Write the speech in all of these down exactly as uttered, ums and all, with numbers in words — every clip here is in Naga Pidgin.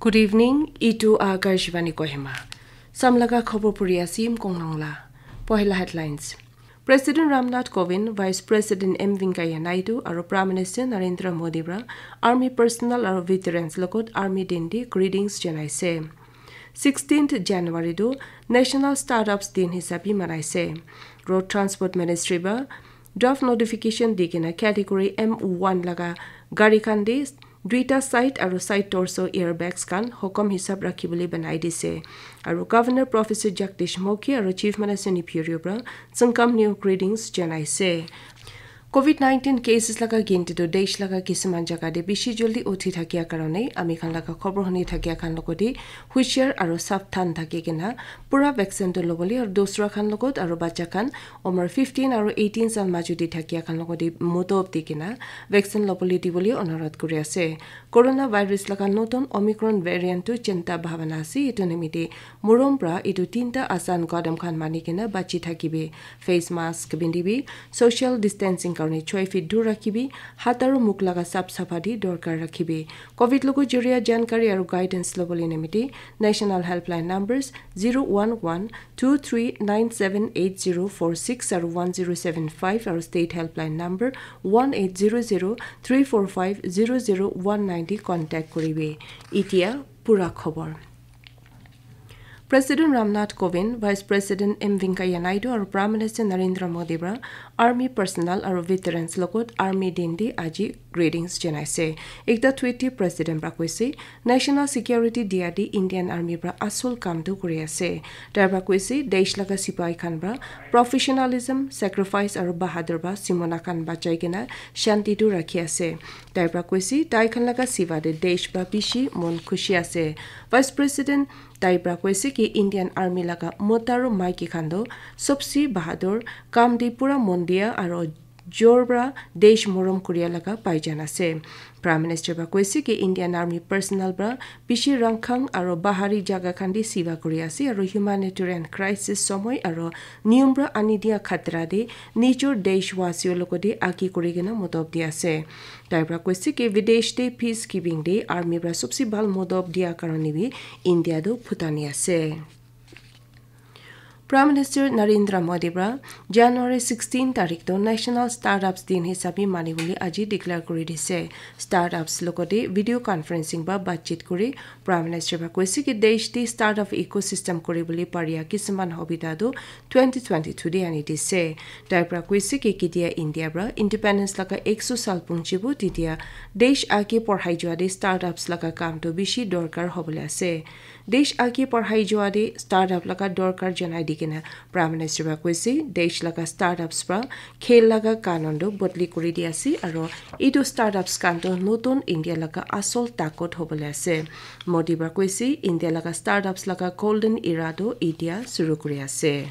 Good evening, itu Akashvani Kohima. Samlaga khobor puri asim konglongla. Pohila headlines. President Ramnath Kovind, Vice President M Venkaiah Naidu, aru Prime Minister Narendra Modi pra Army personnel aru veterans logot Army Din di greetings janaise. Sixteenth January tu National Startups Din hisabi manaise. Road Transport Ministry pra draft notification di kena category M one laga gari khan di duita side aru side torso airbags khan hukum hisab rakhibole banai dise. Aru Governor Professor Jagdish Mukhi aru Chief Minister Neiphiu Rio pra tsüngkam new greetings janaise. Covid nineteen cases laga ginti tu desh laga kisuman jaga te bishi joldi uthi thakia karone ami khan laga khobor huni thakia khan logote hushar aru sabdhan thaki kena pura vaccine tu lobole aru dusra khan logot aru bacha khan umar fifteen aru eighteen sal majo te thakia khan logote motob di kena vaccine lobole dibole onurodh kuri ase. Coronavirus laga notun Omicron variant tu chinta bhabana ase, etu nimite morom pra etu tinta asan kadam khan mani kena bachi thakibi. Face mask bindibi, social distancing karone choi feet dur rakhibi, hat aru mukh laga sap sapha di dorkar rakhibi. Covid logo joria jankari aru guidance lobole nimite National Helpline numbers zero one one two three nine seven eight zero four six aru one zero seven five aru State Helpline number one eight zero zero three four five zero zero one nine di contact kuribi. Itia pura khobor. President Ramnath Kovind, Vice President M Venkaiah Naidu aru Prime Minister Narendra Modi pra Army personnel aru veterans logot Army Din di aji greetings janaise. Ekta tweet di President pra koise, National Security dia di Indian Army pra asol kam tu kuri ase. Tai pra koise, desh laga sipai khan pra professionalism, sacrifice aru bahadur pra simona khan bachai kena shanti tu rakhi ase. Tai pra koise, tai khan laga siva te desh pra bishi mon khushi ase. Vice President tai pra koise ki Indian Army laga mota aru maiki khan tu sobse bahadur, kam te pura mon dia aru jor pra desh morom kuria laga paijan ase. Prime Minister pra koise ki Indian Army personnel pra bishi rangkhang aru bahari jaga khan te siva kuri ase aru humanitarian crisis somoy aru niyom pra ani dia khatra te nijor deshwasio logote agi kuri kena motob di ase. Tai pra koise ki videsh te peacekeeping te army pra sobse bhal motob dia karone bi India tu phutani ase. Prime Minister Narendra Modi pra January sixteen tarik tu National Startups Din hisabi mani bole aji declare kuri dise. Startups logote video conferencing pra batchit kuri Prime Minister pra koise ki desh te startup ecosystem kuri bole paria kisuman hobita tu twenty twenty-two te ani dise. Tai pra koise ki ketia India pra independence laga ekso sal punchibo tetia desh age porhai jua te startups laga kam tu bishi dorkar hobole ase. Desh age porhai jua te startup laga dorkar janai di kena Prime Minister pra koise, desh laga startups pra khel laga kanun tu bodli kuri di ase aru etu startups khan tu notun India laga asol takot hobole ase. Modi pra koise, India laga startups laga golden era tu itia suru kuri ase.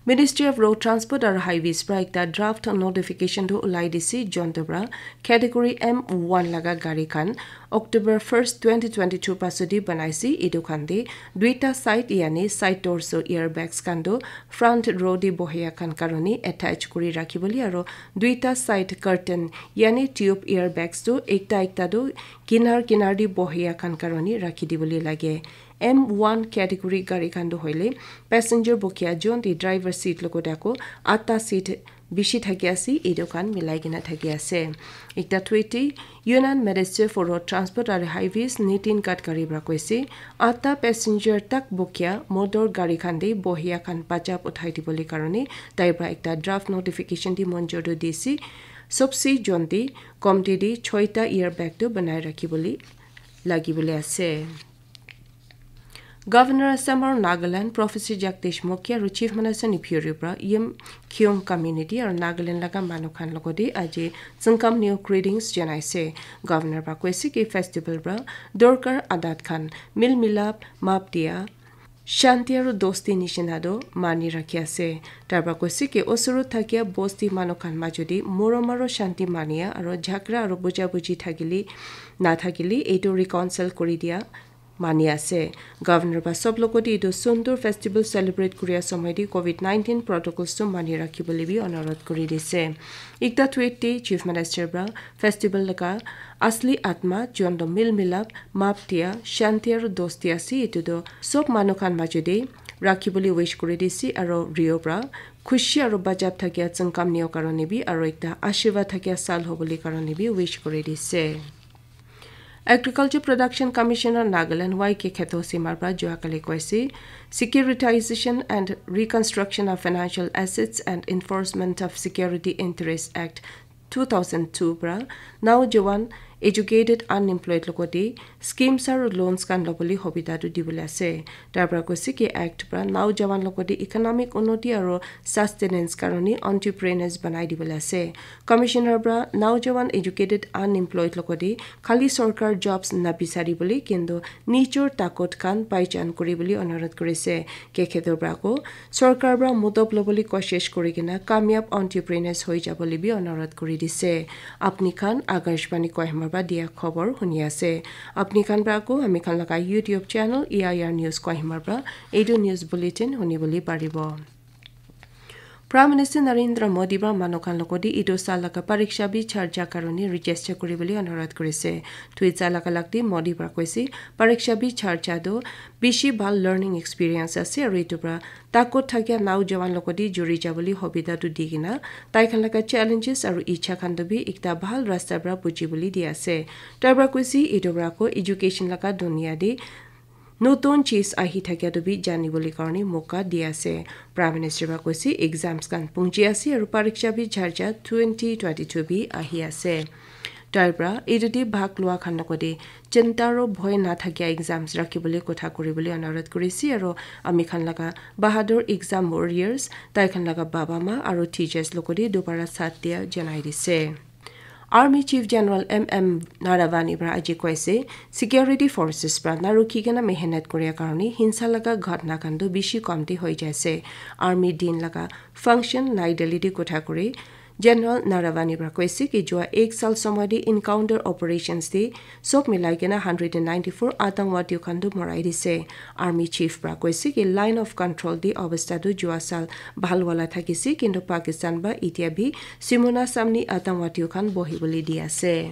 Ministry of Road Transport aru Highways pra ekta draft notification tu ulai dise, jontu pra category M one laga gari khan October first, twenty twenty-two pasudi banaise. Etu khan te duita side yani side torso airbags khan tu front row te bohia khan karone attach kuri rakhibole aru duita side curtain yani tube airbags tu ekta ekta tu kinar kinar te bohia khan karone rakhi dibole lage. M one category gari khan tu hoile passenger bokia jonte driver seat logot ako atta seat bishi thaki ase, etu khan milai kena thaki ase. Ekta tweet te Union Minister for Road Transport aru Highways Nitin Gadkari pra koise, atta passenger tak bokia motor gari khan te bohia khan bachap uthai dibole karone tai pra ekta draft notification te monjor tu dise. Sobse jonte komti te choita airbag tu banai rakhibole lagibole ase. Governor Assam aru Nagaland Professor Jagdish Mukhi aru Chief Minister Neiphiu Rio pra Yim Khiung community aru Nagaland laga manu khan logote aji tsüngkam new greetings janaise. Governor pra koise ki festival pra dorkar adat khan mil milap, map dia, shanti aru dosti nishina tu mani rakhi ase. Tai pra koise ki osorot thakia bosti manu khan majo te morom aru shanti mania aru jhagara aru buja buji thakile nathakile etu reconcile kuri dia mani ase. Governor para sob logot te etu sundur festival celebrate kuria somoi te covid nineteen protocols tu mani rakhi bole bi onurodh kuri dise. Ekta tweet te Chief Minister para festival laga asli atma, jon to mil milap, map dia, shanti aru dosti ase, etu to sob manu khan majo te rakhi bole wish kuri dise aru Rio para khushi aru bajab thakia tsüngkam nio karone bi aru ekta ashirwad thakia sal hobole karone bi wish kuri dise. Agriculture Production Commissioner Nagaland Y K Kheto Simar para jua kali koise, Securitization and Reconstruction of Financial Assets and Enforcement of Security Interest Act two thousand two para Naujawan Educated Unemployed logote schemes aru loans khan lobole hobida tu dibole ase. Tar para koise ki act para Naujawan logote economic unnoti aru sustenance karone entrepreneurs banai dibole ase. Commissioner para Naujawan Educated Unemployed logote khali sorkar jobs nabisari bole kintu nijor takot khan paichan kuri bole onurodh kurise. Kekhedo para ko sorkar para modob lobole koshish kuri kena kamyab entrepreneurs hoi jabole bi onurodh kuri dise. Apni khan Akashvani Kohima para dia khobor huni ase. Apni khan para ko ami khan laga YouTube channel E I R News Kohima para etu news bulletin huni bole paribo. Prime Minister Narendra Modi para manu khan logote etu sal laga Pariksha Pe Charcha karone register kuri bole onurodh kurise. Tweet sa laga lagte Modi para koise, Pariksha Pe Charcha tu bishi bhal learning experience ase aru etu para takot thakia Naujawan logote juri jabole hobida tu di kena tai khan laga challenges aru ichha khan tu bi ekta bhal rasta para buji bole di ase. Tai para koise etu para ko education laga dunia te notun cheez ahi thakia tu bi jani bole karone moka di ase. Prime Minister para koise exams khan pungji ase aru Pariksha Pe Charcha twenty twenty-two bi ahi ase. Tai para etu te bhag lua khan logote chinta aru bhoi na thakia exams rakhi bole kotha kuri bole onurodh kurise aru ami khan laga bahadur exam warriors tai khan laga baba ma aru teachers logote dobara sath dia janai dise. Army Chief General M M Naravani para aji koise, security forces para narukhi kena mehenat koria karone hinsa laga ghatna khan tu bishi komti hoi jaise. Army din laga function Nai Delhi te kotha kuri General Naravani para koise ki jua ek sal somoi te encounter operations te sob milai kena hundred and ninety-four atangwadi khan tu morai dise. Army Chief para koise ki line of control te obostha tu jua sal bhal wala thakise, kintu Pakistan para itya bi Simona samni atangwadi khan bohi bole di ase.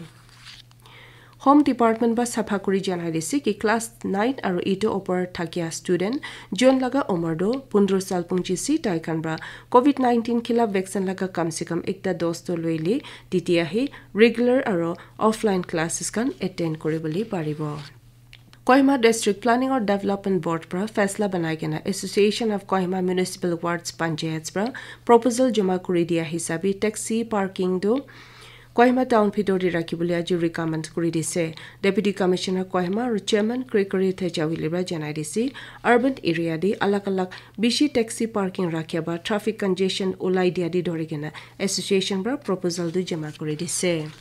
Home Department para sapha kuri janai dise ki class nine aru eight opor thakia student jon laga umar tu pondro sal pungjise tai khan para covid nineteen khilaf vaccine laga kam se kam ekta dose tu loile titiya he regular aru offline classes khan attend kuri bole paribo. Kohima District Planning or Development Board para faisla banai kena Association of Kohima Municipal Wards Panchayats para proposal joma kuri dia hisabe taxi parking tu Kohima town bhitor te rakhi bole aji recommend kuri dise. Deputy Commissioner Kohima aru Chairman Gregory Thejawili para janai dise, urban area te alag alag bishi taxi parking rakhia ba traffic congestion ulai dia te dhori kena association para proposal tu joma kuri dise.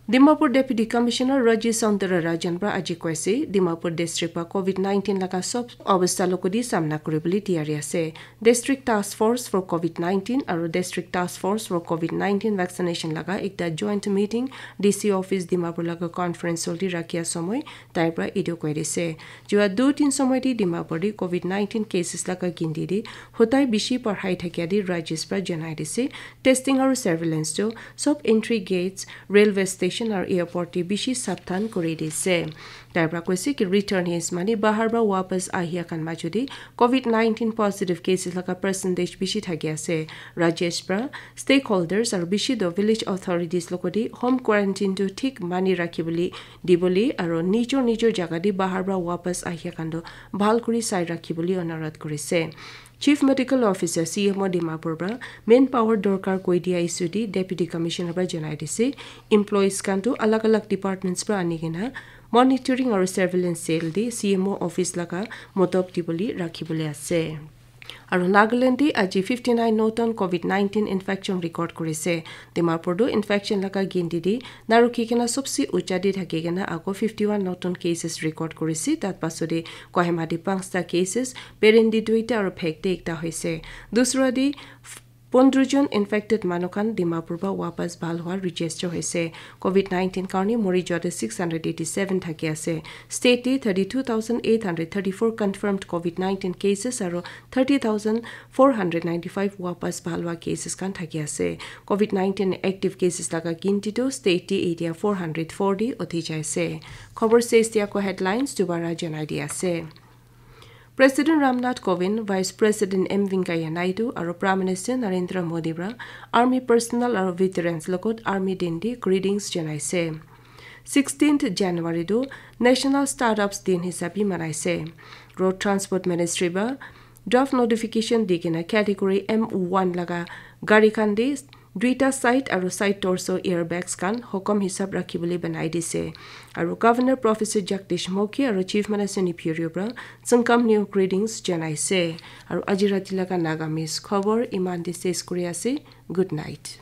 Dimapur Deputy Commissioner Raji Saundara Rajan para aji koise, Dimapur District para covid nineteen laga sob obostha logote samna kuri bole tiyari ase. District Task Force for covid nineteen aru District Task Force for covid nineteen vaccination laga ekta joint meeting D C office Dimapur laga conference hall te rakhia somoi tai para etu koi dise. Jua du tin somoi te Dimapur te covid nineteen cases laga ginti te hotai bishi parhai thakia te Rajesh para janai dise. Testing aru surveillance tu sob entry gates, railway station aru airport te bishi sabdhan kuri dise. Tai para koise ki returnees mane bahar para wapas ahia khan majo te covid nineteen positive cases laga percentage bishi thaki ase. Rajesh para stakeholders aru bishi do village authorities logote home quarantine tu thik mani rakhi bole dibole aru nijor nijor jaga te bahar para wapas ahia khan tu bhal kuri sai rakhi bole onurodh kurise. Chief Medical Officer C M O Dimapur para manpower dorkar koi dia issue te Deputy Commissioner para janai dise. Employees khan tu alag alag departments para ani kena monitoring aru surveillance cell te C M O office laga motob dibole rakhi bole ase. Aru Nagaland te aji fifty nine notun covid nineteen infection record kurise. Dimapur tu infection laga ginti te narukhi kena sobse ucha te thaki kena ako fifty one notun cases record kurise. Tat pasode Kohima te panchta cases, Berendi duita aru Phek te ekta hoise. Dusra te Pondro jon infected manu khan Dimapur pa wapas bhal hwa register hoise. Covid nineteen karne mori jua tu six hundred eighty seven thaki ase. State te thirty two thousand eight hundred thirty four confirmed Covid nineteen cases aro thirty thousand four hundred ninety five wapas bhal hwa cases khan thaki ase. Covid nineteen active cases laga ginti tu state te etia four hundred forty uthi jaise. Khobor ses tia ko headlines dubara janai di ase. President Ramnath Kovind, Vice President M Venkaiah Naidu aro Prime Minister Narendra Modi para army personnel aro veterans logot army din te greetings janaise. Sixteenth January tu National Startups Din hisabe manaise. Road Transport Ministry para draft notification di kena category M one laga gari khan te duita side aro side torso airbags khan hukum hisab rakhi bole banai dise. Aro Governor Professor Jagdish Mukhi aro Chief Minister Neiphiu Rio para Tsüngkamnyo greetings janaise. Aro aji rati laga Nagamese khobor iman te ses kuri ase. Good night.